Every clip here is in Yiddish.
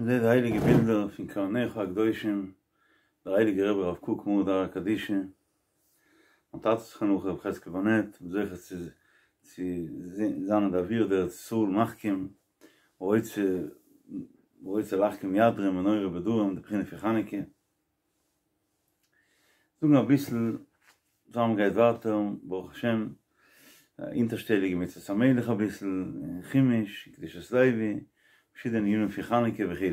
מ'זעט די הייליגע בילדער פון קרניך הקדושים, דער הייליגער רבי רב קוק מרא דארעא קדישא, מיין טאטע זכרונו לברכה רבי חזקאל באנעט, זוכה צו צו זיין אין די אוויר דארץ ישראל מחכים, רוצה רוצה להחכים ידרים מנורה בדרום די בחינה פון חנוכה. זאגן אביסל פאר מ'גייט ווייטער, ברוך השם, אונטערשטעליגע מצוות המלך אביסל, און חומש, און קדושת לוי, פארשידענע ענינים פון חנוכה וכו'.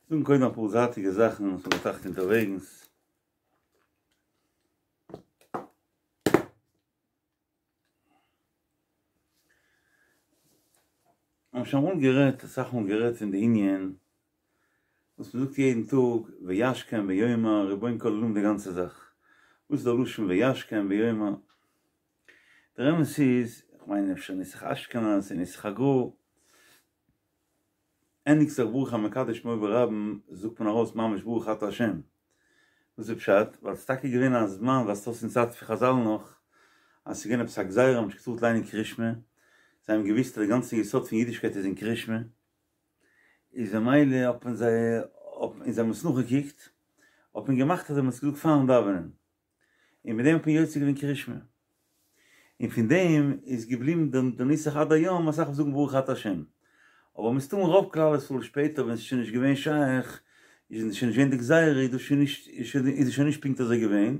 זאגן קודם אפאר זייטיגע זאכן וואס מ'האט געטראכט אונטערוועגנס. מ'האט שוין אמאל גערעדט, אסאך מאל גערעדט פון די ענין וואס מ'זאגט יעדן טאג וישכם ויאמר רבון כל עולמים די גאנצע זאך, וואס איז דער לשון וישכם ויאמר? דער אמת איז, כ'מיין אפשר נוסח אשכנז און נוסח הגר"א, ענדיגט זיך ברוך המקדש שמו ברבים זאגט מען ארויס ממש ברוך אתה השם. וואס איז פשט? ווייל ס'איז טאקע געווען א זמן ווייזט אויס אין צייט פון חזל נאך אז ס'איז געווען עפעס א גזירה מ'האט נישט געטארט ליינען קרישמע, זיי האבן געוואוסט אז די גאנצע יסוד פון אידישקייט איז אין קרישמע, איז ממילא האט מען זיי און זיי האבן עס נאכגעקוקט האט מען געמאכט אז זיי האבן עס געזאגט פארן דאווענען. און מיט דעם האט מען יוצא געווען קרישמע, און פון דעם איז געבליבן דער נוסח עד היום, אסאך וואס זאגן ברוך אתה השם, אבער מסתמא רוב כלל ישראל שפעטער ווען ס'איז שוין נישט געווען שייך, איז שוין נישט געווען די גזירה, איז דאס שוין נישט, איז עס שוין נישט פונקט אזוי געווען,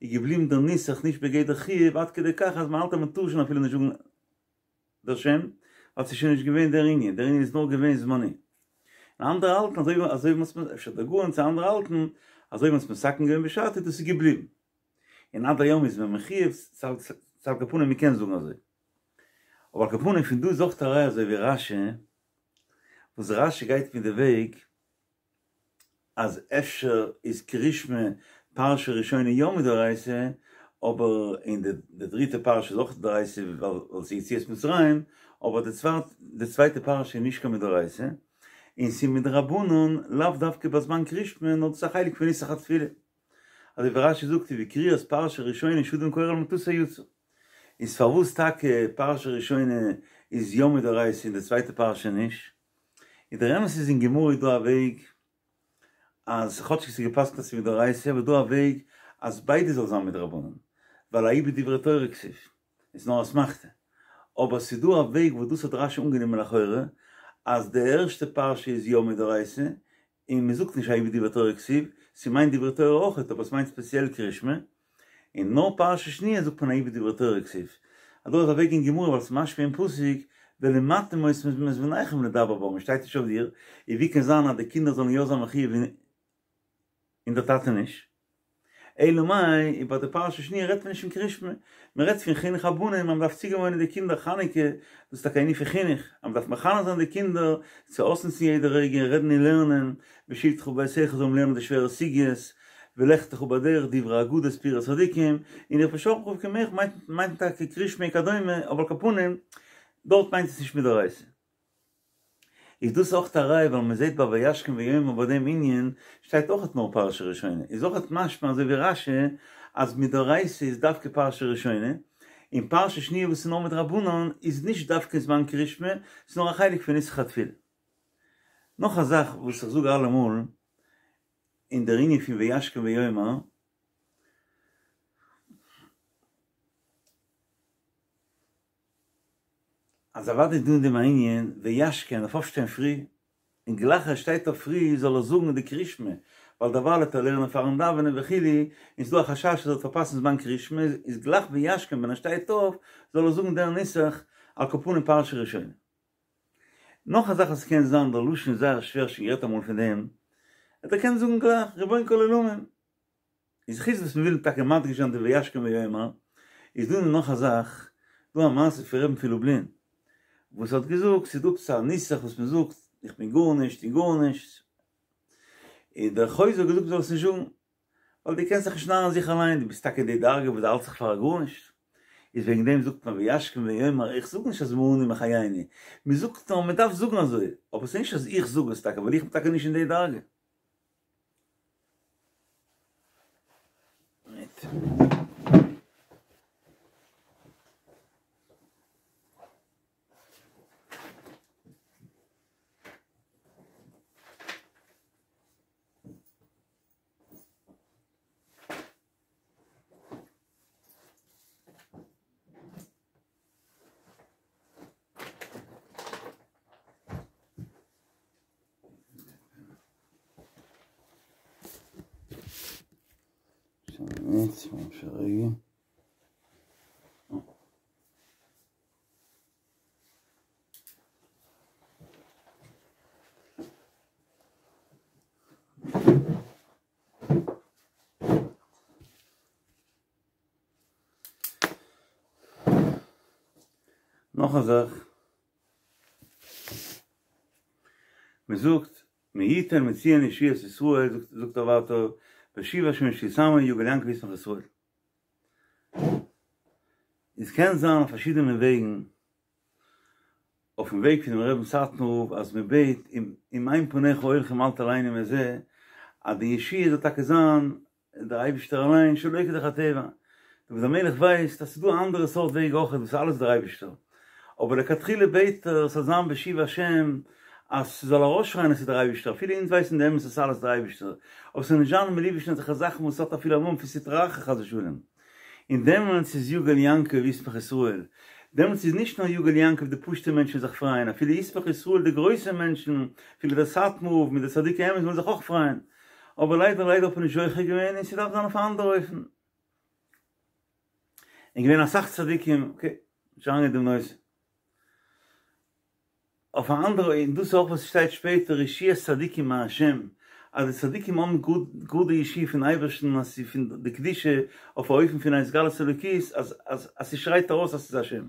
איז געבליבן דער נוסח נישט בגדר חיוב עד כדי כך אז מ'האלט אז מ'טאר שוין אפילו נישט זאגן דער שם, ווייל ס'איז שוין נישט געווען דער ענין, דער ענין איז נאר געווען זמני. און אנדערע האלטן אזוי ווי אזוי ווי מ'האט אפשר דער גאון צו אנדערע האלטן אזוי ווי מ'האט עס מתקן געווען בשעתו דאס איז געבליבן. און עד היום איז מען מחויב ס'איז על כל פנים מ'קען זאגן אזוי. אבער על כל פנים פון דא איז אויך א ראיה אזוי ווי רשי, וואס רשי גייט מיט די וועג, אז אפשר איז קרישמע פרשה ראשונה יא מדאורייתא, אבער אין די דריטע פרשה איז אויך דאורייתא ווייל ס'איז יציאת מצרים, אבער די צווייטע פרשה איז נישט קיין מדאורייתא, און ס'איז מדרבנן לאו דווקא בזמן קרישמע נאר דאס איז א חלק פון נוסח התפילה. אזוי ווי רשי זאגט ובקריאת פרשה ראשונה שאדם קורא על מטתו יצא. איז פארוואס טאקע פרשה ראשונה איז יא מדאורייתא און די צווייטע פרשה נישט? און דער אמת איז אין גמרא איז דא א וועג אז כאטשיג ס'איז געפסקנט אז ס'איז מדאורייתא אבער איז דא א וועג אז ביידע זאל זיין מדרבנן ווייל ההוא בדברי תורה כתיב איז נאר אסמכתא אבער ס'איז דא א וועג וואס דאס האט רשי אנגענומען לכאורה אז די ערשטע פרשה איז יא מדאורייתא און מען זאגט נישט ההוא בדברי תורה כתיב, ס'מיינט דברי תורה אויכעט אבער ס'מיינט ספעציעל קרישמע, און נאר פרשה שניה זאגט מען ההוא בדברי תורה כתיב, אז דא איז א וועג אין גמרא ווייל ס'משמע אין פסוק ולמדתם אותם את בניכם לדבר בם, שטייט נישט אויף דיר, און ווי קען זיין אז די קינדער זאלן יא זיין מחויב און דער טאטע נישט? אלא מאי, איז ביי די פרשה שניה רעדט מען נישט פון קרישמע, מען רעדט פון חינוך הבנים אז מען דארף צוגעוואוינען די קינדער חנוכה, דאס איז טאקע א ענין פון חינוך, אז מען דארף מחנך זיין די קינדער צו אויסנוצן יעדע רגע, רעדן און לערנען, בשבתך בביתך זאל מען לערנען די שווערע סוגיות, ולכתך בדרך דברי אגדות סיפורי צדיקים, און דער ובשכבך ובקומך מיינט מיינט טאקע קרישמע וכדומה, אבער על כל פנים, דארט מיינט עס נישט מדאורייתא. איז דאס אויך א ראיה ווייל מען זעט ביי וישכם ויאמר ביי דעם ענין שטייט אויכעט נאר פרשה ראשונה איז אויכעט משמע אזוי ווי רשי אז מדאורייתא איז דווקא פרשה ראשונה און פרשה שניה וואס איז נאר מדרבנן איז נישט דווקא זמן קרישמע ס'איז נאר א חלק פון נוסח התפילה. נאך א זאך וואס איך זאג אלעמאל אין דער ענין פון וישכם ויאמר. אז אוודאי איז דא אין דעם א ענין וישכם דארף אויפשטיין פרי, און גלייך ער שטייט אויף פרי זאל ער זאגן די קרישמע, ווייל דערווייל וועט ער לערנען פארן דאווענען וכו', און ס'דא א חשש אז ער וועט פארפאסן זמן קרישמע, איז גלייך וישכם ווען ער שטייט אויף זאל ער זאגן דער נוסח על כל פנים פרשה ראשונה. נאך א זאך וואס קען זיין, דער לשון איז זייער שווער, שוין גערעדט אמאל פון דעם, ער קען זאגן גלייך רבון כל עולמים. איז חוץ וואס מ'וויל טאקע מדגיש זיין די וישכם ויאמר, איז דא נאך א זאך, דא א מעשה פון רבי'ן פון לובלין, וואס האט געזאגט ס'איז דא עפעס א נוסח וואס מ'זאגט איך בין גארנישט און גארנישט, און דער חוזה האט געזאגט מ'זאל עס נישט זאגן, ווייל דו קענסט זיך נישט נארן זיך אליין, דו ביסט טאקע אין די דרגה וואס דו האלטסט זיך פאר א גארנישט, איז וועגן דעם זאגט מען וישכם ויאמר, איך זאג נישט אז מה אני מחייני, מ'זאגט נאר מ'דארף זאגן אזוי, אבער ס'איז נישט אז איך זאג עס טאקע ווייל איך בין טאקע נישט אין די דרגה. מינוט, א רגע. נאך א זאך, מען זאגט מי יתן מציון ישועת ישראל, זאגט ער ווייטער, בשוב השם ישועות עמו יגל יעקב וישמח ישראל. עס קען זיין אויף פארשידענע וועגן, אויפן וועג פונעם רבין סאטמאר רב אז מען בעט אם אין פניך הולכים אל תעלנו מזה, אז די ישועה זאל טאקע זיין דער אייבישטער אליין שלא כדרך הטבע, דוד המלך ווייסט אז ס'איז דא א אנדערע סארט וועג אויכעט וואס איז אלעס דער אייבישטער, אבער לכתחילה בעט ער ס'זאל זיין בשוב השם אז ס'זאל ארויסשרייען אז ס'איז דער אייבישטער, אפילו אונז ווייסן די אמת אז ס'איז אלעס דער אייבישטער, אבער ס'זאל נישט זיין מלובש אין אזעלכע זאכן וואס האט אפילו א נאמען פון סטרא אחרא חס ושלום. און דעמאלטס איז יגל יעקב וישמח ישראל, דעמאלטס איז נישט נאר יגל יעקב די פשוטע מענטשן זיך פרייען, אפילו ישמח ישראל די גרויסע מענטשן, אפילו דער סאטמאר רב מיט די צדיקי אמת וועלן זיך אויך פרייען, אבער ליידער ליידער האט מען נישט זוכה געווען און ס'דארף זיין אויף א אנדערע אופן. און געווען אסאך צדיקים, אקעי, נישט אריינגיין אין דעם נושא. אויף א אנדערע און דאס איז אויך וואס שטייט שפעטער ישועת צדיקים מה' אז די צדיקים האבן גאר די ישועה פון אייבערשטן אז ס'איז פון די קדושה אויף א אופן פון התגלות אלוקית אז אז אז ס'שרייט ארויס אז ס'איז השם.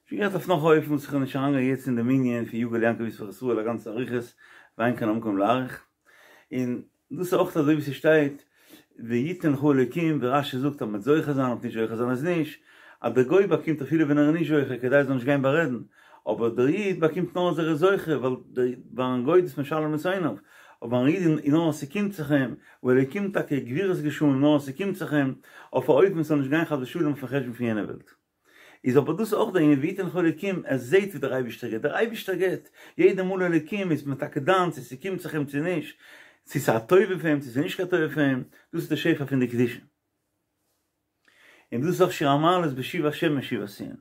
שוין גערעדט אויף נאך א אופן וואס איך וועל נישט אריינגיין יעצט אין דעם ענין פון יגל יעקב וישמח ישראל א גאנצע אריכות ואין כאן המקום להאריך און דאס איז אויך אזוי ווי ס'שטייט ויתן לך אלוקים ווי רש"י זאגט אז מ'וועט זוכה זיין אויב נישט זוכה זיין איז נישט, אז דער גוי באקומט אפילו ווען ער איז נישט זוכה כדי ער זאל נישט גיין בארעדן, אבער דער איד באקומט נאר אז ער איז זוכה ווייל ביים גוי איז משלם לשונאיו, אבער ביים איד איז נאר אז ס'קומט זיך אים, והאלוקים טאקע גבורות גשמים נאר אז ס'קומט זיך אים, אויף א אופן ס'זאל נישט גיין חס ושלום אויפן חשבון פון יענע וועלט. איז אבער דאס אויך דער ענין ויתן לך אלוקים, ער זעט ווי דער אייבישטער געבט, דער אייבישטער געבט, יעדע מאל אלוקים איז מען טאקע דן צו ס'קומט זיך אים צו נישט, צו ס'איז א טובה פאר אים צו ס'איז נישט קיין טובה פאר אים, דאס איז די שפע פון די קדושה. און דאס איז אויך שיר המעלות בשוב השם משיבת ציון.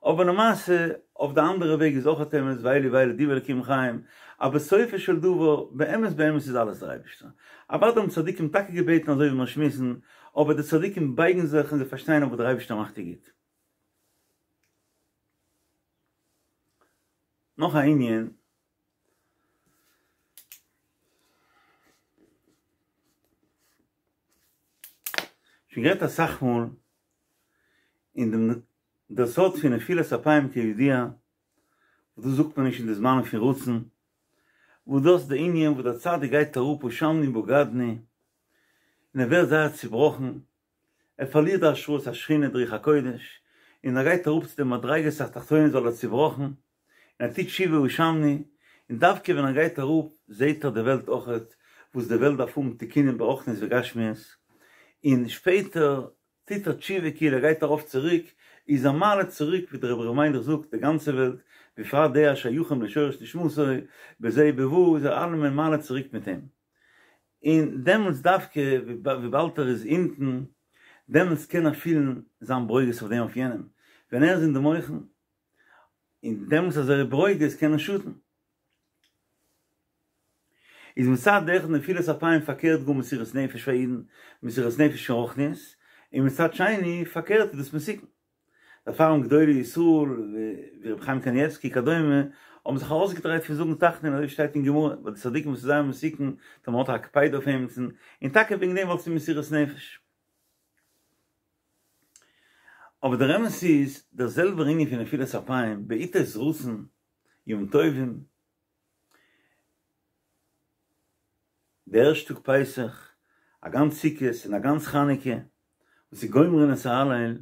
אבער למעשה אויף די אנדערע וועג איז אויך אמת ואלו ואלו דברי אלוקים חיים, אז בסופו של דבר באמת באמת איז אלעס דער אייבישטער. אוודאי האבן צדיקים טאקע געבעטן אזוי ווי מיר שמועסן, אבער די צדיקים בייגן זיך און זיי פארשטייען אויב דער אייבערשטער מאכט איז גוט. נאך א ענין. שוין גערעדט אסאך מאל אין דעם דער סוד פון נפילת אפיים כידוע, וואס דאס זאגט מען נישט אין די זמנים פון רצון, וואס דאס די ענין וואס דער צדיק גייט אראפ אשמנו בגדנו, און ער ווערט זייער צובראכן, ער פארלירט די השראת השכינה די רוח הקודש, און ער גייט אראפ צו די מדריגות התחתונות ווייל ער איז צובראכן, און ער טוט תשובה אשמנו, און דווקא ווען ער גייט אראפ זעט ער די וועלט אויכעט, וואס די וועלט דארף האבן תיקונים ברוחניות וגשמיות, און שפעטער טוט ער תשובה כאילו ער גייט ארויף צוריק, איז ער מעלה צוריק ווי דער רבי ר' מיילעך זאגט די גאנצע וועלט, בפרט די השייכים לשורש נשמתו, בזה ובבא איז ער אלעמען מעלה צוריק מיט אים. און דעמאלטס דווקא וויבאלד ער איז אונטן, דעמאלטס קען ער פילן זיין ברוגז אויף דעם אויף יענעם, ווען ער איז אין די מוחין, און דעמאלטס אז ער איז ברוגז קען ער שאטן. איז מצד אחד נפילת אפיים פארקערט גאר מסירות נפש פאר אידן, מסירות נפש פון רוחניות, און מצד שני פארקערט איז דאס מסוכן. דערפאר האבן גדולי ישראל ווי רבי חיים קנייבסקי כדומה האבן זיך ארויסגעדרייט פון זאגן תחנון אזוי ווי שטייט אין גמרא ביי די צדיקים וואס איז זייער מסוכן טאמער מ'האט א הקפידה אויף עמיצן, און טאקע וועגן דעם ווייל ס'איז מסירות נפש. אבער דער אמת איז דער זעלבער ענין פון נפילת אפיים בעתות רצון ימים טובים, די ערשטע טאג פסח, א גאנץ סוכות און א גאנץ חנוכה, וואס איז גומרין את ההלל,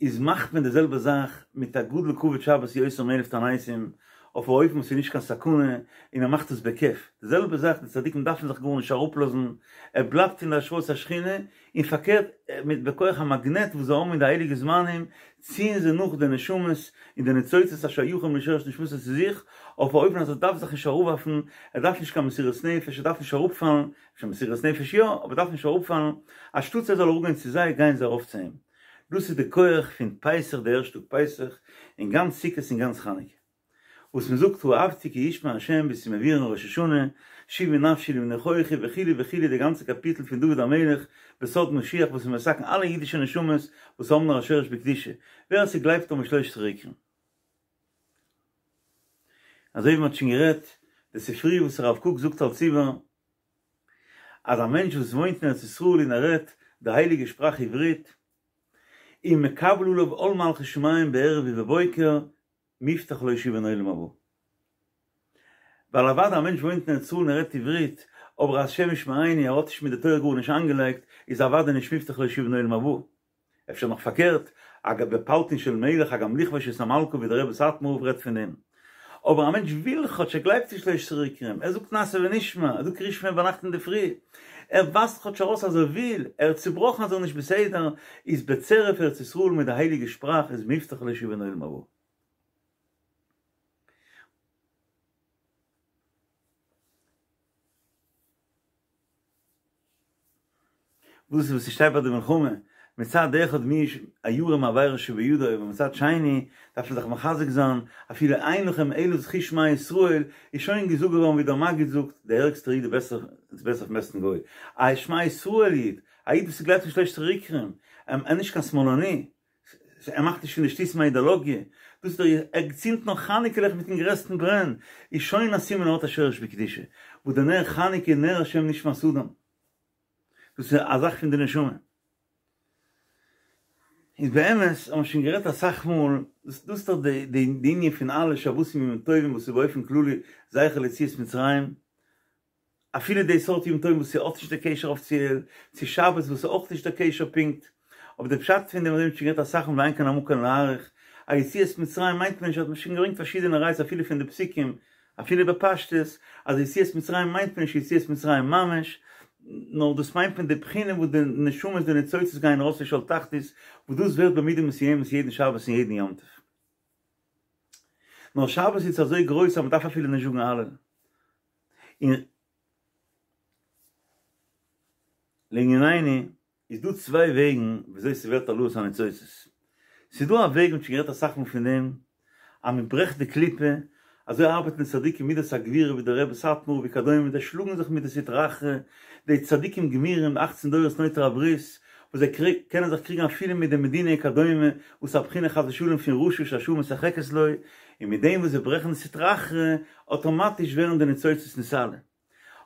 איז מאכט מען די זעלבע זאך מיט א גדול כבוד שבת יותר מאלף תעניתים, אויף א אופן וואס איז נישט קיין סכנה, און מען מאכט עס בכיף. די זעלבע זאך, די צדיקים דארפן זיך גארנישט אראפלאזן, ער בלייבט אין די השראת השכינה, און פארקערט, מיט בכח המאגנעט וואס זיי האבן אין די הייליגע זמנים, ציען זיי נאך די נשמות און די ניצוצות השייכים לשורש נשמתו צו זיך, אויף א אופן אז ער דארף זיך נישט אראפווארפן, ער דארף נישט קיין מסירות נפש, ער דארף נישט אראפפאלן, אפשר מסירות נפש יא, אבער דארף נישט אראפפאלן, אנשטאטס ער זאל אראפגיין צו זיי, גייען זיי ארויף צו אים. דאס איז די כח פון פסח, די ערשטע טאג פסח, און גאנץ סוכות און גאנץ חנוכה. וואס מען זאגט אהבתי כי ישמע ה' ווי ס'איז מבואר אין ראש השנה, שובי נפשי למנוחך וכו' וכו' די גאנצע קאפיטל פון דוד המלך בסוד משיח וואס איז מתקן אלע אידישע נשמות וואס האבן נאר א שורש בקדושה, ווער ס'גלייבט אן בשלושת עיקרים. אזוי ווי מ'האט שוין גערעדט, די ספרי וואס הרב קוק זאגט אלץ איבער, אז א מענטש וואס וואוינט אין ארץ ישראל און ער רעדט די הייליגע שפראך עברית, איז מקבל עליו עול מלכות שמים בערב ובבוקר, מובטח לו שהוא בן עולם הבא. ווייל אוודאי א מענטש וואוינט אין ארץ ישראל און ער רעדט עברית, אבער השם ישמרינו ער האט נישט מיט די תורה גארנישט איינגעלייגט, איז אוודאי נישט מובטח לו שהוא בן עולם הבא. אפשר נאך פארקערט, אגב בפלטין של מלך הגם לכבוש את המלכה ווי דער רבי סאטמאר רב רעדט פון דעם. אבער א מענטש וויל כאטש, ער גלייבט אין שלושת עיקרים, ער זאגט נעשה ונשמע, ער זאגט קריאת שמע ביינאכט אינדערפרי, ער ווייזט כאטש ארויס אז ער וויל, ער איז צובראכן אז ער איז נישט בסדר, איז בצירוף ארץ ישראל מיט די הייליגע שפראך איז מובטח לו שהוא בן עולם הבא. וואס איז וואס ס'שטייט ביי די מלחמה, מצד אחד מי הירא מעבירה שבידו אבער מצד שני דארף מען זיך מחזק זיין, אפילו אין לכם אלא זכות שמע ישראל, איז שוין געזאגט געווארן ווי דער מגיד זאגט, דער ערגסטער איד איז בעסער איז בעסער פון בעסטן גוי, א שמע ישראל איד, א איד וואס גלייבט אין שלושת עיקרים, ער איז נישט קיין שמאלני, ער מאכט נישט פון די שטותים א אידאלאגיע, דאס איז דער ער צינדט נאך חנוכה לעכט מיטן גרעסטן ברען, איז שוין א סימן ער האט א שורש בקדושה, וואס דער נר חנוכה נר השם נשמת אדם, דאס איז א זאך פון די נשמה. איז באמת האבן מיר שוין גערעדט אסאך מאל, דאס איז דאך די די ענין פון אלע שבתים ימים טובים וואס איז באופן כללי זכר ליציאת מצרים, אפילו די סארט יום טובים וואס ס'האט נישט די קשר אפיציעל צו שבת וואס איז אויך נישט די קשר פונקט, אבער די פשט פון דעם האבן מיר שוין גערעדט אסאך מאל ואין כאן המקום להאריך, א יציאת מצרים מיינט מען נישט האט מען שוין געברענגט פארשידענע ראיות אפילו פון די פסוקים אפילו בפשטות אז יציאת מצרים מיינט מען נישט יציאת מצרים ממש, נאר דאס מיינט מען די בחינה וואס די נשמות די ניצוצות גייען ארויס פון שאול תחתית וואס דאס ווערט במידה מסוימת יעדן שבת און יעדן יום טוב. נאר שבת איז אזוי גרויס אז מ'דארף אפילו נישט זאגן הלל. און לענינינו, איז דא צוויי וועגן וויאזוי ס'ווערט העלאת הניצוצות. ס'איז דא א וועג, מ'האט שוין גערעדט אסאך מאל פון דעם, אז מ'ברעכט די קליפה, אזוי ארבעטן די צדיקים מידת הגבורה ווי דער רבי סאטמאר וכדומה, זיי שלאגן זיך מיט די סטרא אחרא, די צדיקים גמורים, די אכצן דורות נוטרי הברית, וואס זיי קענען זיך קריגן אפילו מיט די מדינה וכדומה, וואס איז א בחינה חס ושלום פון רשע שהשעה משחקת לו, און מיט דעם וואס זיי ברעכן די סטרא אחרא, אטאמאטיש ווערן די ניצוצות נתעלה.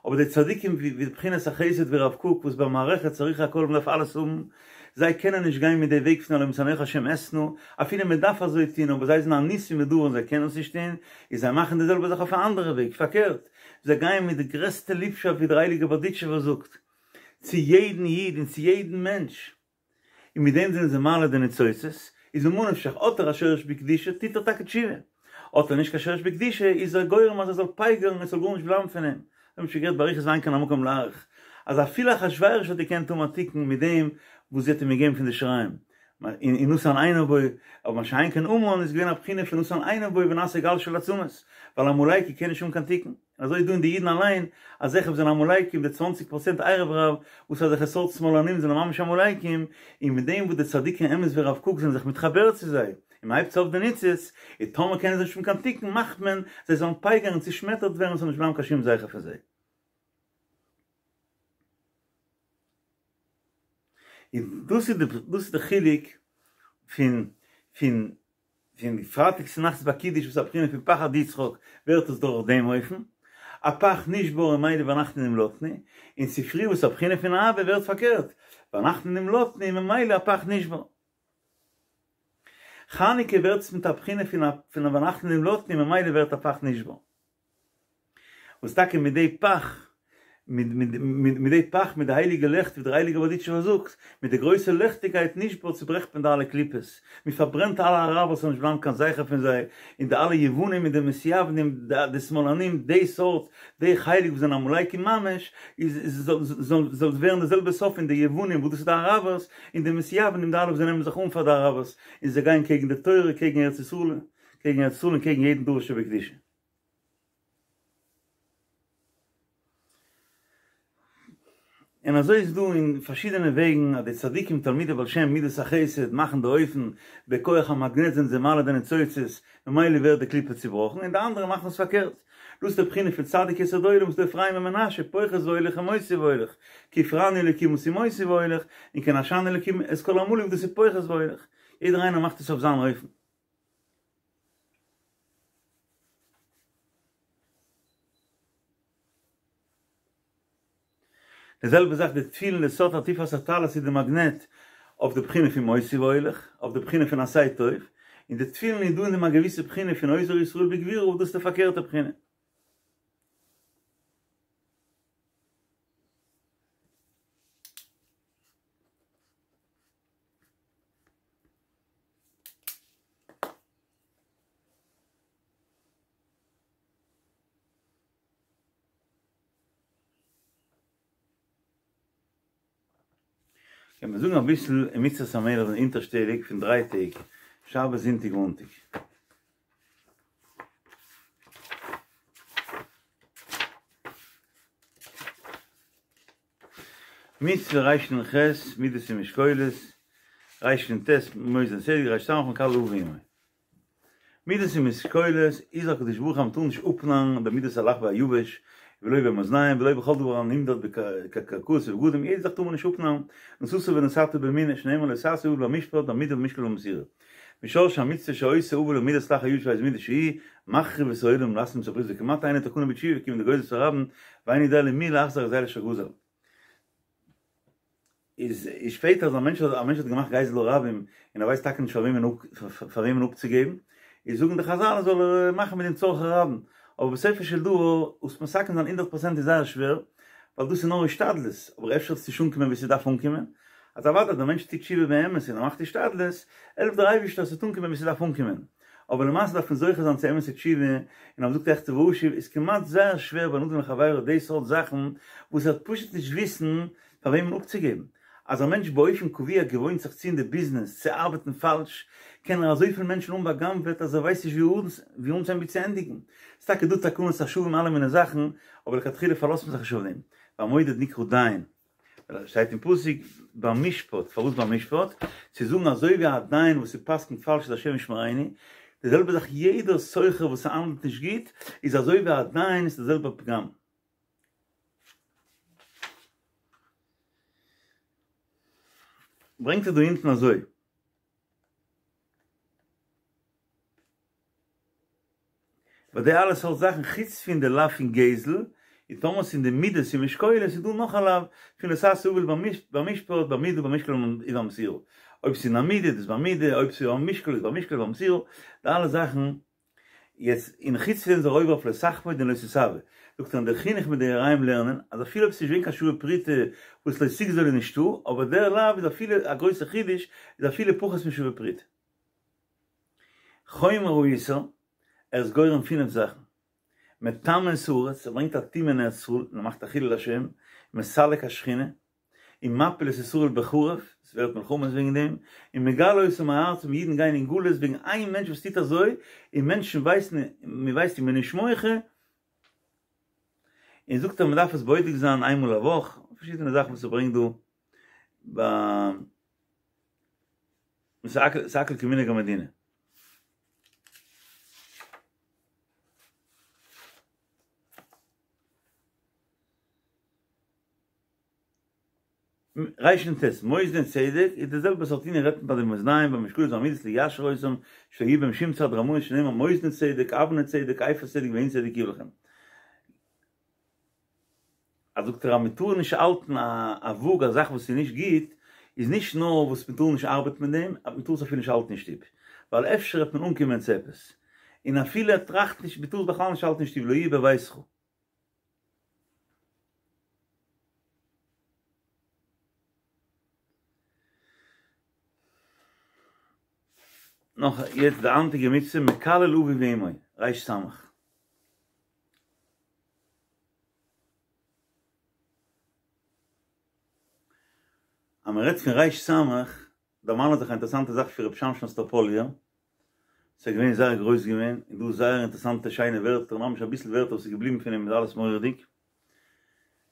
אבער די צדיקים ווי ווי בחינת החסד ווי רב קוק וואס במערכת צריך הכל מ'דארף אלעס האבן, זיי קענען נישט גיין מיט די וועג פון הלא משנאיך השם אשנא, אפילו מ'דארף אזוי טון אבער זיי זענען אנוסים מדבר און זיי קענען עס נישט טון, איז זיי מאכן די זעלבע זאך אויף א אנדערע וועג, פארקערט, זיי גייען מיט די גרעסטע ליבשאפט ווי דער הייליגער בארדיטשובער זאגט, צו יעדן איד און צו יעדן מענטש. און מיט דעם זענען זיי מעלה די ניצוצות, איז ממה נפשך, האט ער א שורש בקדושה, טוט ער טאקע תשובה, האט ער נישט קיין שורש בקדושה, איז ער גורם אז ער זאל פייגערן און עס זאל גארנישט בלייבן פון אים. מיר האבן שוין גערעדט באריכות ואין כאן המקום להאריך, אז אפילו אחשורוש האט געקענט האבן א תיקון מיט דעם וואס זי האט אים געגעבן פון די שיריים, און נתן עיניו בו, אבער מה שאין כן המן איז געווען א בחינה פון נתן עיניו בו ונעשה גל של עצמות, ווייל עמלקי קען נישט האבן קיין תיקון. אזוי איז דא אין די אידן אליין אזעלכע וואס זענען עמלקים די צוואנציג פראצענט ערב רב וואס אזעלכע סארט שמאלנים זענען ממש עמלקים און מיט דעם וואס די צדיקי אמת ווי הרב קוק זענען זיך מתחבר צו זיי און מען הייבט אויף די ניצוץ און טאמער קענען זיי נישט האבן קיין תיקון מאכט מען זיי זאלן פייגערן און צושמעטערט ווערן עס זאל נישט בלייבן קיין שום זכר פון זיי. און דאס איז די דאס איז די חילוק פון פון פון פרייטאג צונאכטס ביי קידוש וואס איז א בחינה פון פחד יצחק ווערט עס דורך דעם אופן, הפך נשבר און ממילא ואנחנו נמלטנו, און צופרי וואס איז א בחינה פון אהבה ווערט פארקערט, ואנחנו נמלטנו און ממילא הפך נשבר. חנוכה ווערט עס מיט א בחינה פון ואנחנו נמלטנו און ממילא ווערט הפך נשבר. וואס טאקע מיט די פך, מיט די פך, מיט די הייליגע לעכט ווי דער הייליגער בארדיטשובער זאגט, מיט די גרויסע לעכטיגקייט נשבר צוברעכט מען די אלע קליפות, מען פארברענט אלע אראבער ס'זאל נישט בלייבן קיין זכר פון זיי, און די אלע יוונים מיט די מתיוונים, די שמאלנים, די סארט, די חלק וואס זענען עמלקים ממש, איז זאל ווערן די זעלבע סוף פון די יוונים וואס דאס איז די אראבערס, און די מתיוונים די אלע וואס זיי נעמען זיך אן פאר די אראבערס, און זיי גייען קעגן די תורה, קעגן ארץ ישראל, קעגן ארץ ישראל און קעגן יעדן דבר שבקדושה. און אזוי איז דא אין פארשידענע וועגן אז די צדיקים תלמידי בעל שם מידת החסד מאכן די אופן בכח המגנט זענען זיי מעלה די ניצוצות ממילא ווערט די קליפה צובראכן און די אנדערע מאכן עס פארקערט דאס איז די בחינה פון צדיק יסוד עולם וואס איז דא אפרים ומנשה פוחת והולך ומוסיף והולך כי הפרני אלקים משימותי והולך און כי נשני אלקים את כל עמלי דאס איז פוחת והולך יעדער איינער מאכט עס אויף זיין אופן. די זעלבע זאך די תפילין די סוד עטיפת הטלית איז די מאגנעט אויף די בחינה פון מוסיף והולך, אויף די בחינה פון עשה טוב, און די תפילין איז דא אין דעם א געוויסע בחינה פון אוזר ישראל בגבורה וואס דאס איז די פארקערטע בחינה. קען מען זאגן אביסל אין מצוות המלך זענען אונטערשטעליג פון דריי טעג, שבת זונטאג מאנטאג. מצוה רנ"ח, מידות ומשקולות, רנ"ט, מאזני צדק, ר"ס, מקלל אביו ואמו. מידות ומשקולות הזהיר הקדוש ברוך הוא אז מ'טאר נישט אפנארן במידת הלח והיבש ולא במאזניים ולא בכל דבר הנמדד בקרקעות ובגדים יעדע זאך טאר מען נישט אפנארן נשאת ונתת באמונה שנאמר לא תעשה עול במשפט במידה במשקל ובמסירה משרשי המצוה שעושה עוול במידת לח היבש באיזה מידה שהיא מחריב את העולם ולהסלים את הברית וכמעט אינה תקנה בתשובה כיוון דגוזל את הרבים ואינו יודע למי להחזיר הגזילה שגזל. איז איז שפעטער אז א מענטש א מענטש האט געמאכט גזל הרבים און ער ווייסט טאקע נישט פאר וועמען פאר וועמען אפצוגעבן, איז זאגן די חזל זאל ער מאכן מיט דעם צרכי רבים, אבער בסופו של דבר עס מתקן זיין הונדערט פראצענט איז זייער שווער, ווייל דאס איז נאר השתדלות, אבער אפשר וועט עס נישט אנקומען וואו ס'דארף אנקומען, אז אוודאי אז דער מענטש טוט תשובה באמת און ער מאכט השתדלות, העלפט דער אייבערשטער אז ס'וועט אנקומען וואו ס'דארף אנקומען. אבער למעשה דארף מען זוכה זיין צו אמת'ע תשובה, און אז מ'זאגט אחטא ואשוב איז כמעט זייער שווער בין אדם לחבירו די סארט זאכן וואס ער וועט פשוט נישט וויסן פאר וועמען אפצוגעבן. אז א מענטש באופן קבוע געוואוינט זיך צו אין די ביזנעס צו ארבעטן פאלש, קען ער אזויפיל מענטשן האבן בא'גנב'עט אז ער ווייסט נישט וואו אנצוהייבן וואו צו ענדיגן. ס'איז טאקע דא תקנות השבים אלע מיני זאכן, אבער לכתחילה פארלאזט מען זיך נישט אויף דעם. והמודד נקרא דיין. שטייט אין פסוק במשפט, פארוואס במשפט? צו זאגן אזוי ווי א דיין וואס ס'פסק'נט פאלש איז השם ישמרינו, די זעלבע זאך יעדער סוחר וואס ס'האנדלט נישט גוט איז אזוי ווי א דיין איז די זעלבע פגם. ברענגט ער דא אונטן אזוי. ביי די אלע סארט זאכן חוץ פון די לאו פון גזל, און טאמער ס'איז אין די מידות און משקולות איז דא נאך א לאו פון לא תעשה עול במשפט במידה במשקל ובמסירה. אויב ס'איז אין א מידה איז דאס במידה, אויב ס'איז במשקל איז במשקל ובמסירה, די אלע זאכן. יעצט און חוץ פון דעם איז ער עובר אויף לא תחמוד און לא תתאוה. זאגט ער אין דער חינוך מיט די יראים לערנען אז אפילו אויב ס'איז נישט געווען קיין שווה פרוטה וואס לא תגזול איז נישטא, אבער דער לאו איז אפילו א גרויסע חידוש איז אפילו פחות משווה פרוטה. חומר האיסור, ער איז גורם פינף זאכן, מטמא את הארץ, ער ברענגט א טומאה אין ארץ ישראל, און ער מאכט א חילול השם, מסלק השכינה, און מפיל את ישראל בחרב, עס ווערט מלחמות וועגן דעם, און מגלה אותם מארצם, אידן גייען אין גלות וועגן איין מענטש וואס טוט אזוי, און מענטשן ווייסן, מען ווייסט און מען איז נישט מוחה, און זאגט ער מען דארף עס בודק זיין איינמאל א וואך, פארשידענע זאכן וואס ער ברענגט דא ביי. ס'איז הכל כמנהג המדינה. רנ"ט, מאזני צדק איז די זעלבע סארט ענין רעדט מען ביי די מאזניים במשקלות ובמידות ליישר אותם שלא יהיה בהם שום צד רמאות שנאמר מאזני צדק אבני צדק איפה צדק והנה צדק יהיו לכם. אז זאגט ער אז מען טאר נישט האלטן א וואג א זאך וואס איז נישט גוט, איז נישט נאר וואס מען טאר נישט ארבעטן מיט דעם, מען טאר עס אפילו נישט האלטן אין שטוב, ווייל אפשר וועט מען אנקומען צו עפעס, און אפילו ער טראכט נישט, מען טאר עס בכלל נישט האלטן אין שטוב, לא יהיה בביתך. נאך יעצט די היינטיגע מצוה מקלל אביו ואמו, ר"ס. אז מען רעדט פון ריש סמך, דערמאנט זיך א אינטערעסאנטע זאך פון רבי שמשון אסטראפאליער, ס'איז געווען זייער גרויס געווען, און דא זייער אינטערעסאנטע שיינע ווערטער, ממש אביסל ווערטער וואס איז געבליבן פון אים איז אלעס מורא'דיג.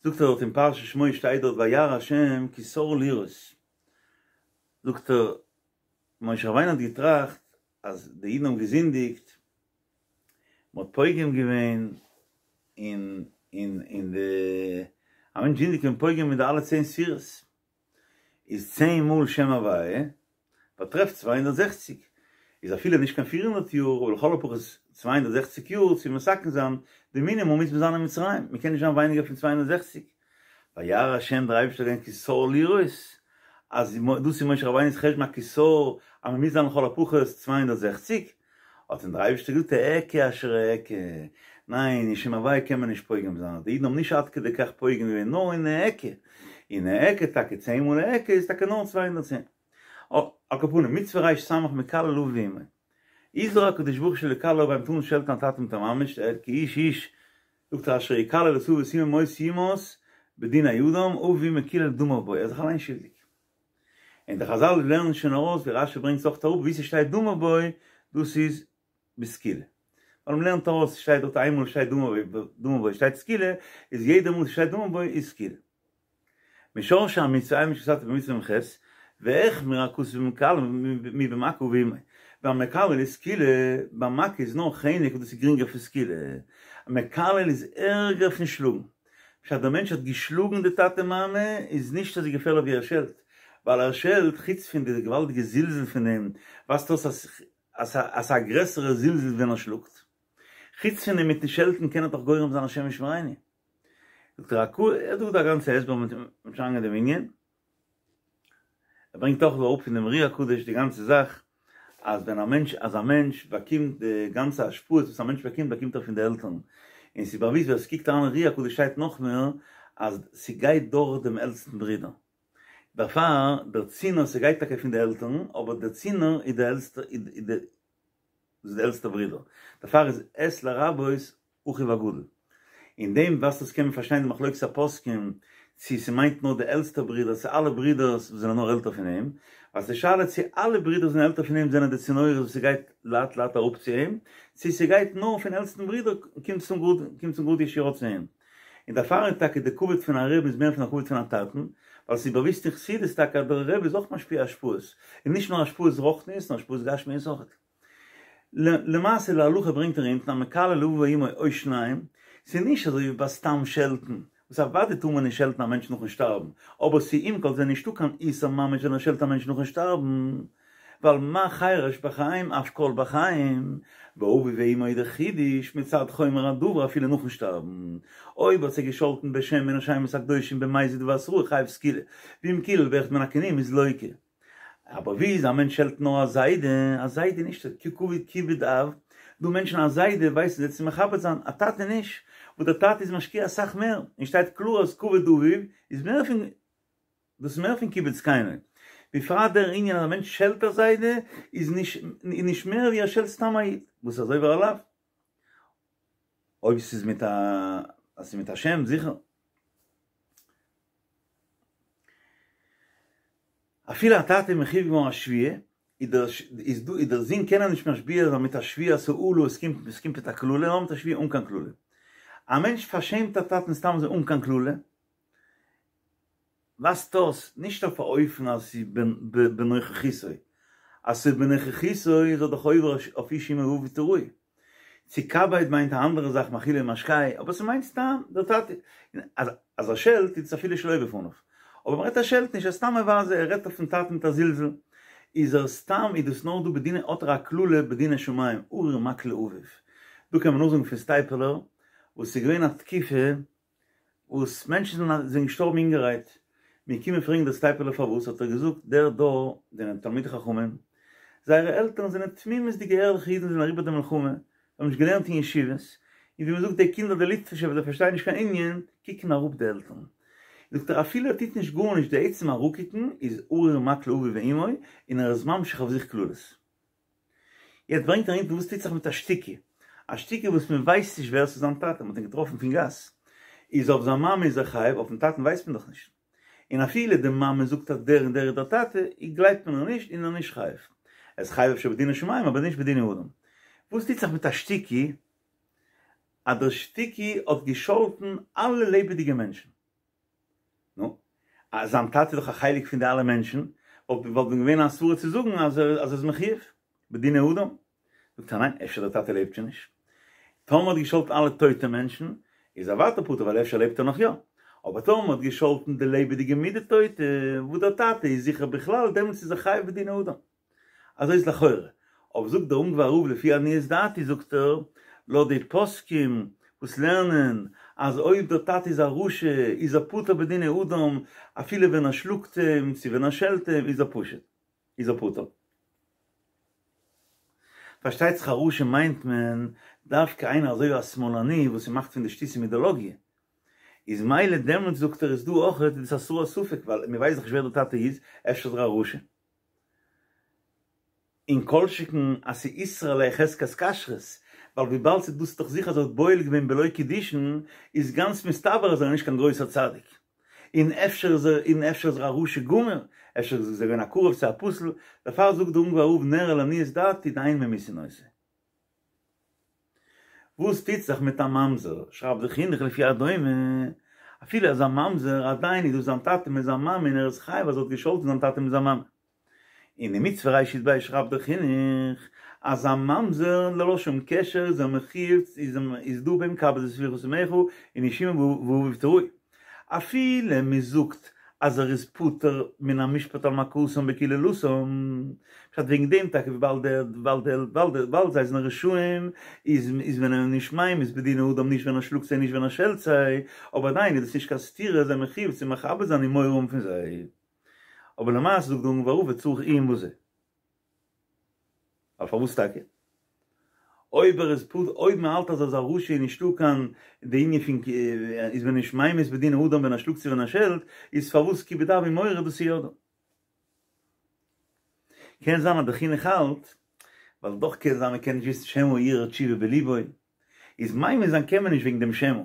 זאגט ער דארט אין פרשת שמות שטייט דארט וירא השם כי סר לראות, זאגט ער משה רבינו האט געטראכט אז די אידן האבן געזינדיגט, מען האט פוגם געווען אין אין אין די, א מענטש זינדיגט איז מען פוגם אין די אלע צען ספירות, איז צען מאל שם הוויה באטרעפט 260, איז אפילו נישט קיין 400 יאר, אבער לכל הפחות 260 יאר צו מתקן זיין די מינימום מוז מען זיין אין מצרים, מען קען נישט זיין ווייניגער פון 260. וירא השם דער אייבערשטער האט געזען כי סר לראות, אז דאס איז משה רבינו'ס חשבון א כי סר אז מען מוז זיין לכל הפחות 260, האט אים דער אייבערשטער געזאגט אעקה אשר אעקה, ניין אין שם הוויה קען מען נישט פוגם זיין, די אידן האבן נישט עד כדי כך פוגם געווען נאר אין אעקה, אין אעקה טאקע צען מאל אעקה איז טאקע נאר 210. על כל פנים, מצוה ריש סמך מקלל אביו ואמו. הזהיר הקדוש ברוך הוא שלא יקלל אביו מ'טאר נישט שעלטן א טאטע מיט א מאמע, כי איש איש, זאגט ער אשר יקלל את אביו ואת אמו מות יומת בדיני אדם, אביו ואמו קילל דמיו בו, ער איז זיך אליין שולדיג. און די חזל לערנען שוין ארויס ווי רשי ברענגט עס אויך אראפ ווי ס'שטייט דמיו בו דאס איז בסקילה. ווייל מ'לערנט ארויס ס'שטייט דארט איינמאל שטייט דמיו בו שטייט סקילה איז יעדע מאל ס'שטייט דמיו בו איז סקילה. משרשי המצוה עיין במשנה במצוה מ ח והחמיר הכתוב במקלל מבמכה אביו ואמו. ביי מקלל איז סקילה, ביי מכה איז נאר חנק און דאס איז גרינגער פון סקילה. מקלל איז ערגער פון שלאגן. פשט דער מענטש האט געשלאגן די טאטע מאמע איז נישט אזוי געפערליך ווי ער שעלט, ווייל ער שעלט, חוץ פון די געוואלדיגע זלזול פון דעם, ווייזט אויס אז אז ס'איז א גרעסערע זלזול ווען ער שלאגט. חוץ פון דעם מיטן שעלטן קען ער דאך גורם זיין השם ישמרינו. זאגט ער א קו ער זאגט א גאנצע הסבר מיט מיט שוין דעם ענין. ער ברענגט אויך דא אראפ פון דעם אר"י הקדוש די גאנצע זאך אז ווען א מענטש אז א מענטש באקומט די גאנצע השפעות וואס א מענטש באקומט באקומט ער פון די עלטערן, און ס'איז באוויסט ווער ס'קוקט אריין אין אר"י הקדוש שטייט נאך מער אז ס'גייט דורך דעם עלטסטן ברודער, דערפאר דער צינור ס'גייט טאקע פון די עלטערן אבער דער צינור איז די עלטסטע איז די דאס איז די עלטסטע ברודער, דערפאר איז את לרבות אחיו הגדול. אין דעם וואס דאס קען מען פארשטיין די מחלוקת הפוסקים צו ס'מיינט נאר די עלטסטע ברודער צו אלע ברודערס וואס זענען נאר עלטער פון אים, ווייל ס'איז שאלה צו אלע ברודערס וואס זענען עלטער פון אים זענען די צינורות וואס ס'גייט לאט לאט אראפ צו אים, צו ס'גייט נאר פון עלטסטן ברודער קומט צום גראד קומט צום גראד ישירות צו אים. און דערפאר איז טאקע די כבוד פון א רבי איז מער פון א כבוד פון א טאטן, ווייל ס'איז באוויסט אין חסידות טאקע אז דער רבי איז אויך משפיע השפעות, און נישט נאר השפעות רוחניות נאר השפעות גשמיות אויך. למעשה להלכה ברענגט ער אונטן המקלל אביו ואמו או שניהם, ס'איז נישט אזוי ווי ביי סתם שעלטן, וואס אוודאי טאר מען נישט שעלטן א מענטש נאכן שטארבן, אבער ס'איז עם כל זה נישטא קיין איסור ממש ווען ער שעלט א מענטש נאכן שטארבן, ווייל מה חרש בחיים אף קול בחיים, ואביו ואמו איז דער חידוש מצד חומר הדבר אפילו נאכן שטארבן, אויב האט זיי געשאלטן בשם מן השמות הקדושים במזיד ובהתראה חייב סקילה, ואם קילל באחד מן הכינויים איז לוקה. אבער ווי איז א מענטש שעלט נאר א זיידע, א זיידע נישט כבוד כיבוד אב, דא מענטשן א זיידע ווייסן זיי צו מכבד זיין, א טאטע נישט, וואס דער טאטע איז משקיע אסאך מער, און שטייט קלאר אז כבוד אביו איז מער פון דאס איז מער פון כיבוד זקנו, בפרט דער ענין אז א מענטש שעלט א זיידע איז נישט איז נישט מער ווי ער שעלט סתם א איד, וואס איז עובר א לאו, אויב ס'איז מיט א אז ס'איז מיט א שם זיכער. אפילו א טאטע איז מחויב געווארן א שבועה, איז דער איז דא איז דער זון קען ער נישט משביע זיין מיט א שבועת האלה, עס קומט עס קומט מיט א קללה, נאר מיט א שבועה אן קיין קללה. א מענטש פארשעמט א טאטן סתם אזוי אן קיין קללה, ווייזט אויס נישט אויף א אופן אז ס'איז בנוכחותו, אז ס'איז בנוכחותו איז ער דאך עובר אויף איש אמו ואביו תיראו. צו כבד מיינט א אנדערע זאך מאכילו ומשקהו, אבער ס'מיינט סתם דער טאטע. אז אז ער שעלט איז עס אפילו שלא בפניו. אבער מ'רעדט ער שעלט נישט, ער איז סתם מבזה, ער רעדט אויפן טאטן מיט א זלזול. איז ער סתם איז דאס נאר דא בדיני האט ער א קללה בדיני שמים, ארור מכה לאביו. דא קען מען נאכזאגן פון סטייפלער וואס ס'איז געווען א תקופה וואס מענטשן זענען געשטארבן אינגערהייט, מ'איז געקומען פרעגן דער סטייפלער פארוואס, האט ער געזאגט, דער דור זענען תלמידי חכמים, זייערע עלטערן זענען תמימות'דיגע ערליכע אידן זענען אריבער די מלחמה, זיי האבן נישט געלערנט אין ישיבות, און ווי מען זאגט די קינדער די ליטווישע וואס זיי פארשטייען נישט קיין ענין, קוקן אראפ די עלטערן. זאגט ער אפילו ער טוט נישט גארנישט די עצם אראפקוקן איז ארור מכה לאביו ואמו און ער איז ממשיך אויף זיך קללות. יעצט ברענגט ער אונטן וואס טוט זיך מיט א שתוקי, א שתוקי וואס מען ווייסט נישט ווער ס'איז זיין טאטע, מען האט אים געטראפן פון גאס, איז אויף זיין מאמע איז ער חייב, אויפן טאטן ווייסט מען דאך נישט, און אפילו די מאמע זאגט אז דער און דער איז דער טאטע, גלייבט מען איר נישט און ער איז נישט חייב. ער איז חייב אפשר בדיני שמים אבער נישט בדיני אדם. וואס טוט זיך מיט א שתוקי אז דער שתוקי האט געשאלטן אלע לעבעדיגע מענטשן? נו, אז זיין טאטע איז דאך א חלק פון די אלע מענטשן, וואלט וואלט ווען געווען א סברא צו זאגן אז ער אז ער איז מחויב בדיני אדם. זאגט ער ניין, אפשר דער טאטע לעבט שוין נישט. טאמער האט געשאלטן אלע טויטע מענטשן, איז ער ווייטער פטור ווייל אפשר לעבט ער נאך יא. אבער טאמער האט געשאלטן די לעבעדיגע מיט די טויטע, וואס דער טאטע איז זיכער בכלל, דעמאלטס איז ער חייב בדיני אדם. אזוי איז לכאורה. אבער זאגט דער אונגוואר רב לפי עניות דעתי זאגט ער, לויט די פוסקים וואס לערנען אז אויב דער טאטע איז א רשע איז ער פטור בדיני אדם אפילו ווען ער שלאגט אים צו ווען ער שעלט אים איז ער פשוט איז ער פטור. פארשטייט זיך א רשע מיינט מען דווקא איינער אזוי ווי א שמאלני וואס ס'מאכט פון די שטותים אידעלאגיע איז מילא דעמאלטס זאגט ער איז דא אויכעט איז דאס א ספק ווייל מ'ווייסט דאך נישט ווער דער טאטע איז אפשר איז ער א רשע. און כל שכן אז ס'איסרא ליה חזקת כשרות, ווייל וויבאלד ס'איז דאס דאך זיכער אז ער האט בועל געווען בלא קידושין, איז גאנץ מסתבר אז ער איז נישט קיין גרויסער צדיק. און אפשר איז ער און אפשר איז ער א רשע גמור, אפשר איז ער געווען א קרוב צו א פסול, דערפאר זאגט דער אונגוואר רב נראה לעניות דעתי דאין ממיתין אותו. וואס טוט זיך מיט א ממזר? שרייבט דער חינוך לפי הדומה, אפילו אז א ממזר, עדיין איז דאס זיין טאטע מיט זיין מאמע און ער איז חייב אז ער האט געשאלטן זיין טאטע מיט זיין מאמע. אין די מצוה רי"ב שרייבט דער חינוך אז א ממזר ללא שום קשר איז ער מחויב איז דא ביי אים כבד את אביך ואת אמך און איש אמו ואביו תיראו. אפילו מען זאגט אז ער איז פטור מן המשפט על מכתם בקללתם, פשט וועגן דעם טאקע וויבאלד דער וויבאלד דער וויבאלד דער וויבאלד זיי זענען רשעים איז איז מען אים נישט ממית בדיני אדם נישט ווען ער שלאגט זיי נישט ווען ער שעלט זיי, אבער עדיין איז דאס נישט קיין סתירה זיי מחויב צו מכבד זיין און מורא האבן פון זיי. אבער למעשה זאגט דער אונגוואר רב וצריך עיון בזה. ווייל פארוואס טאקע? אויב ער איז פ אויב מען האלט אז ער איז א רשע איז נישטא קיין די ענין פון איז מען נישט ממית בדיני אדם ווען ער שלאגט צו ווען ער שעלט, איז פארוואס כיבוד אב ומורה דאס איז יא דא? קען זיין אז די חינוך האלט, ווייל דאך קען זיין מען קען נישט וויסן שמא הרהר תשובה בליבו, איז ממית זיין קען מען נישט וועגן דעם שמא,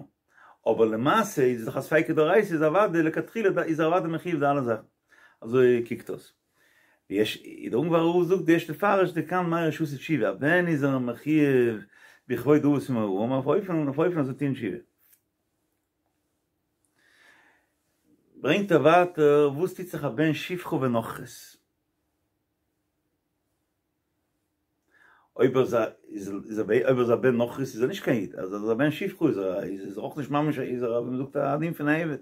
אבער למעשה איז דאך א ספיקא דאורייתא איז אוודאי לכתחילה איז ער אוודאי מחויב די אלע זאכן. אזוי קוקט אויס. ויש, דער אונגוואר רב זאגט יש לפרש דכאן מראה שעשה תשובה, ווען איז ער מחויב בכבוד אבות ומוראה אויף אופן אויף אופן אז זיי טוען תשובה. ברענגט ער ווייטער וואס טוט זיך א בן שפחה ונכרית. אויב ער איז אויב ער איז א בן נכרית איז ער נישט קיין איד, אז ער איז א בן שפחה איז ער איז ער אויך נישט ממש איז ער ווי מ'זאגט א דין פון א עבד.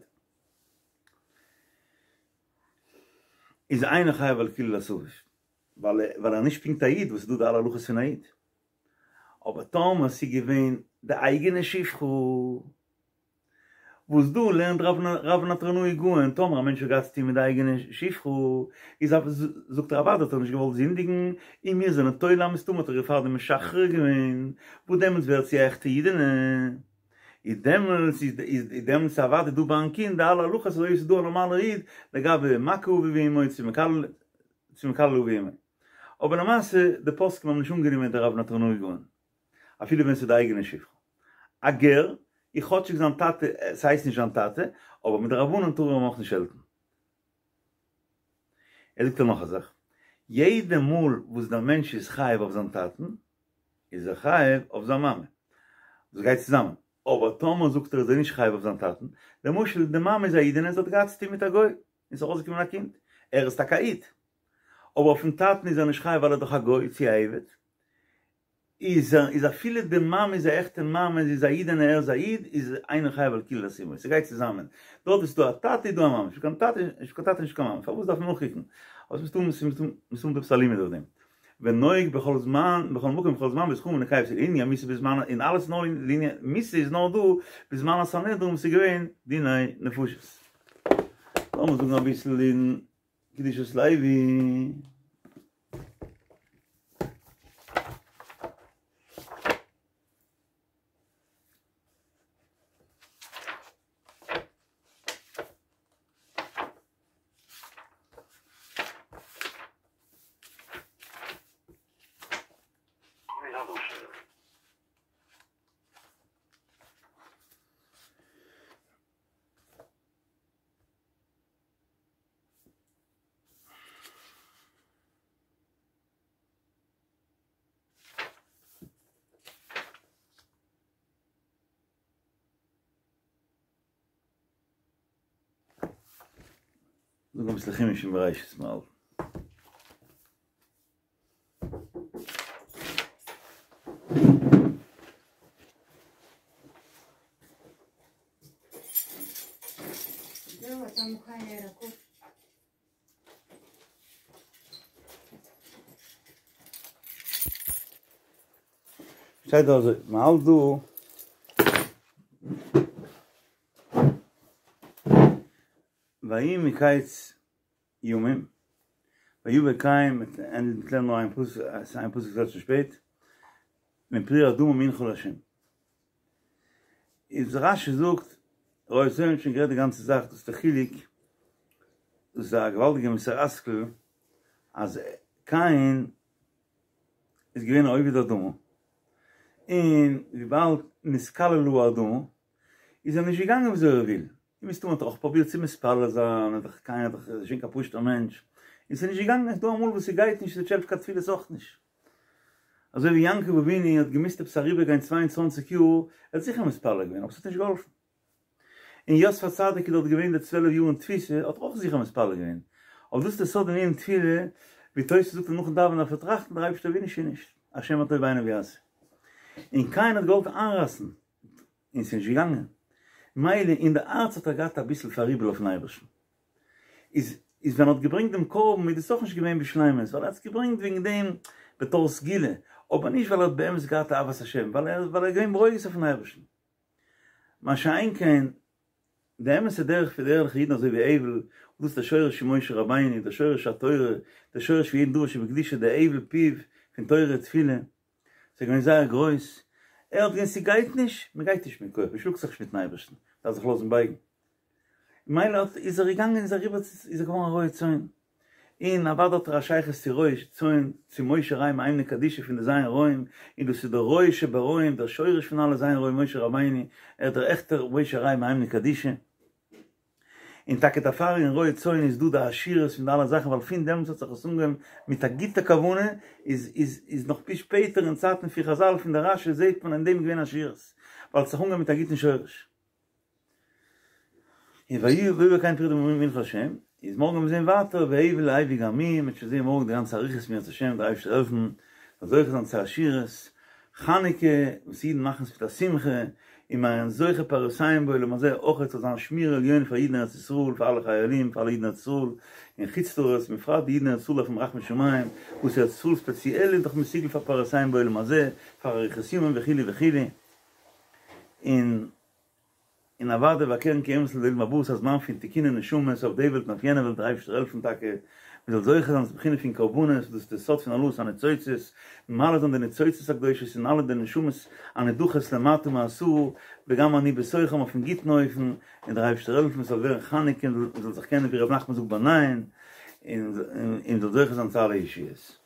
איז אינו חייב על קללת אביו, ווייל ווייל ער איז נישט פונקט א איד וואס איז דא די אלע הלכות פון א איד. אבער טאמער ס'איז געווען די אייגענע שפחה, וואס דא לערנט רב נטרונאי גאון, טאמער א מענטש האט געהאט צוטון מיט די אייגענע שפחה, איז א זאגט ער אוודאי האט ער נישט געוואלט זינדיגן, און מיר זענען תולה מסתמא האט ער איר פארדעם משחרר געווען, וואס דעמאלטס ווערט זי א עכטע אידענע, איז דעמאלטס איז איז דעמאלטס אוודאי דא ביים קינד די אלע הלכות אזוי ווי ס'איז דא א נארמאלער איד לגבי מכה אביו ואמו צו מקלל צו מקלל אביו ואמו. אבער למעשה די פוסקים האבן נישט אנגענומען די רב נטרונאי גאון. אפילו ווען ס'איז די אייגענע שפחה. א גר, איז כאטשיג זיין טאטע, ס'הייסט נישט זיין טאטע, אבער מדרבנן טאר ער אים אויך נישט שעלטן. ער זאגט נאך א זאך, יעדע מאל וואס דער מענטש איז חייב אויף זיין טאטן, איז ער חייב אויף זיין מאמע. דאס גייט צוזאמען. אבער טאמער זאגט ער איז ער נישט חייב אויף זיין טאטן, למשל די מאמע איז א אידענע און זי האט געהאט צוטון מיט א גוי, און ס'איז ארויסגעקומען א קינד, ער איז טאקע א איד, אבער אויפן טאטן איז ער נישט חייב ווייל ער איז דאך א גוי צו א עבד, איז איז אפילו די מאמע איז א עכטע מאמע זי איז א אידענע ער איז א איד איז אינו חייב על קללת אמו ס'גייט צוזאמען דארט איז דא א טאטע איז דא א מאמע נישט קיין טאטע נישט קיין טאטע נישט קיין מאמע פארוואס דארף מען נאכקוקן אבער ס'מסתמא ס'מסתמא מסתמא דא עפעס א לימוד אויף דעם ונוהג בכל זמן בכל מקום בכל זמן בזכרים ונקבות לענין המיתה בזמן און אלעס נאר לענין מיתה איז נאר דא בזמן הסנהדרין וואס איז געווען דיני נפשות לאמיר זאגן אביסל אין קדושת לוי. זאגן אביסל חומש אין בראשית מיר האלטן. שטייט דא אזוי, מען האלט דא ויהי מקץ ימים, ויבא קין, מ'עט לערנען נאר איין פסוק, עס איז איין פסוק ס'ווערט שוין שפעט, מפרי האדמה מנחה לה'. איז רש"י זאגט, רועה צאן האט שוין גערעדט די גאנצע זאך, דאס איז די חילוק, דאס איז א געוואלדיגע מוסר השכל, אז קין איז געווען א עובד אדמה, און וויבאלד נתקללה האדמה, איז ער נישט געגאנגען וויאזוי ער וויל, און מסתמא האט ער אויך פרובירט צו מתפלל זיין, ער איז דאך קין איז דאך נישט געווען קיין פשוט'ער מענטש, און ס'איז נישט געגאנגען, ס'איז דא אמאל וואס ס'גייט נישט, ס'נישט העלפט קיין תפילות אויך נישט. אזוי ווי יעקב אבינו האט געמוזט עפעס אריבער גיין 22 יאר, ער האט זיכער מתפלל געווען, אבער ס'האט נישט געהאלפן. און יוסף הצדיק איז דארט געווען די צוועלף יאר אין תפיסה, האט ער אויך זיכער מתפלל געווען. אבער דאס איז די סוד אין ענין תפילה, ווי תוס' זאגט אז נאכן דאווענען דארף ער טראכטן, דער אייבערשטער וויל נישט איז נישט, השם מה טוב בעיניו יעשה. און קין האט געוואלט איינרייסן, און ס'איז נישט געגאנגען. מילא אין די הארץ האט ער געהאט אביסל פאראיבל אויפן אייבערשטן. איז איז ווען ער האט געברענגט דעם קרבן איז דאס אויך נישט געווען בשלימות, ווייל ער האט עס געברענגט וועגן דעם בתור סגולה, אבער נישט ווייל ער האט באמת געהאט אהבת השם, ווייל ער ווייל ער איז געווען ברוגז אויפן אייבערשטן. מה שאין כן די אמת'ע דרך פון די ערליכע אידן אזוי ווי הבל, און דאס איז דער שורש פון משה רבינו, דער שורש התורה, דער שורש פון יעדן דבר שבקדושה, דער הבל פיו פון תורה ותפילה, ס'איז געווען זייער גרויס, ער האט געזען ס'גייט נישט, מ'גייט נישט מיט כח, מ'שלאגט זיך נישט מיטן אייבערשטן, מ'דארף זיך לאזן בייגן. מילא האט איז ער געגאנגען איז אריבער איז ער געווארן א רועה צאן, און אוודאי האט ער א שייכות צו רועה צאן, צו משה רעיא מהימנא קדישא פון די ז' רועים, און דאס איז דער רועה שברועים, דער שורש פון אלע ז' רועים משה רבינו, ער איז דער עכטער משה רעיא מהימנא קדישא. און טאקע דערפאר אין רועה צאן איז דא די עשירות פון די אלע זאכן ווייל פון דעמאלטס האט זיך עס אנגעהויבן מיט א גוטע כוונה איז איז איז נאך ביז שפעטער אין צייטן פון חזל פון די רשי זעהט מען אין דעם געווען עשירות ווייל עס האט זיך אנגעהויבן מיט א גוטן שורש. און ויבא קין מפרי האדמה מנחה לה' איז מארגן וועלן מיר זעהן ווייטער והבל הביא גם הוא, מ'וועט שוין זעהן מארגן די גאנצע אריכות אם ירצה השם דער אייבערשטער העלפן מ'זאל זוכה זיין צו עשירות, חנוכה וואס אידן מאכן עס מיט א שמחה, און מ'איז זוכה פירותיהם בעולם הזה אויך זאל זיין שמירה עליונה פאר אידן אין ארץ ישראל, פאר אלע חיילים, פאר אלע אידן אין ארץ ישראל, אין חוץ לארץ, בפרט די אידן אין ארץ ישראל דארפן רחמי שמים, וואס ארץ ישראל ספעציעל איז דאך מסוגל פאר פירותיהם בעולם הזה, פאר אריכות ימים וכו' וכו', און. און אוודאי והקרן קיימת לעולם הבא ס'איז א זמן פון תיקוני נשמות אויף די וועלט און אויף יענע וועלט דער אייבערשטער העלפן טאקע מען זאל זוכה זיין צו בחינה פון קרבנות דאס איז די סוד פון העלאת הניצוצות מעלה זיין די ניצוצות הקדושות און אלע די נשמות הנדחות למטה מעשרה וגם אני בתוכם אויפן גוטן אופן און דער אייבערשטער העלפן עס זאל ווערן חנוכה און מען זאל זיך קענען ווי ר' נחמן זאגט באנייען און מען זאל זוכה זיין צו אלע ישועות.